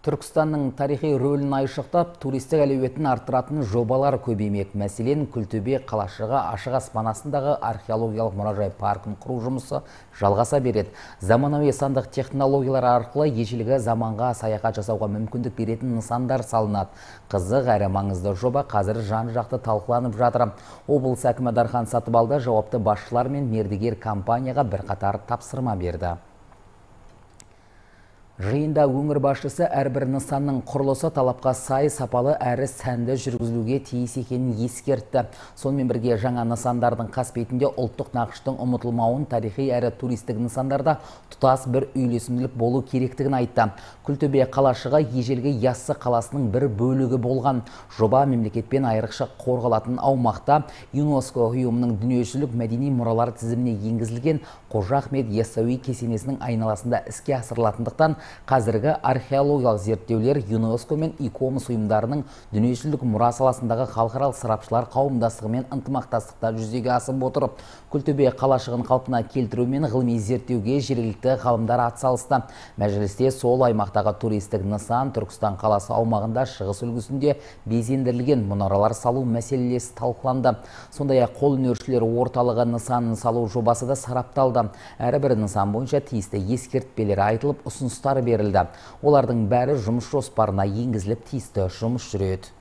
Түркістанның тарихи рөлін айшықтап, туристік әлеуетін арттыратын жобалар көбеймек. Мәселен, Күлтөбе қалашығы ашық аспан астындағы археологиялық мұражай паркін құру жұмысы жалғаса береді. Заманауи сандық технологиялар арқылы ежелгі заманға саяхат жасауға мүмкіндік беретін нысандар салынады. Қызық әрі маңызды жоба қазір жан-жақты талқыланып жатыр. Облыс әкімі Дархан Сатыбалды жауапты басшылар мен мердігер компанияға бірқатар тапсырма берді. Жиында өңір басшысы әрбір нысанның құрылысы талапқа сай, сапалы әрі сәнді жүргізілуге тиіс екенін ескертті. Сонымен бірге жаңа нысандардың қасбетінде ұлттық нақыштың ұмытылмауын, тарихи әрі туристік нысандарда тұтас бір үйлесімділік болу керектігін айтты. Күлтөбе қалашығы ежелгі Яссы қаласының бір бөлігі болған. Жоба мемлекетпен айрықша қорғалатын аумақта ЮНЕСКО ұйымының дүниежүзілік мәдени мұралар тізіміне енгізілген Қожа Ахмет Яссауи кесенесінің айналасында іске асырылатындықтан қазіргі археологиялық зерттеулер ЮНЕСКО мен ИКОМОС ұйымдарының дүниежүзілік мұра саласындағы халықаралық сарапшылар қауымдастығымен ынтымақтастықта жүзеге асып отыр. Күлтөбе қалашығын қалпына келтіру мен ғылыми зерттеуге жергілікті ғалымдар атсалысты. Мәжілісте сол аймақтағы туристік нысан Түркістан қаласы аумағында шығыс үлгісінде безендірілген мұнаралар салу мәселесі талқыланды. Сондай-ақ қолөнершілер орталығы нысанын салу жобасы да сарапталды. Әрбір нысан бойынша тиісті ескертпелер айтылып, ұсыныстар берілді. Олардың бәрі жұмыс жоспарына енгізіліп, тиісті жұмыс жүреді.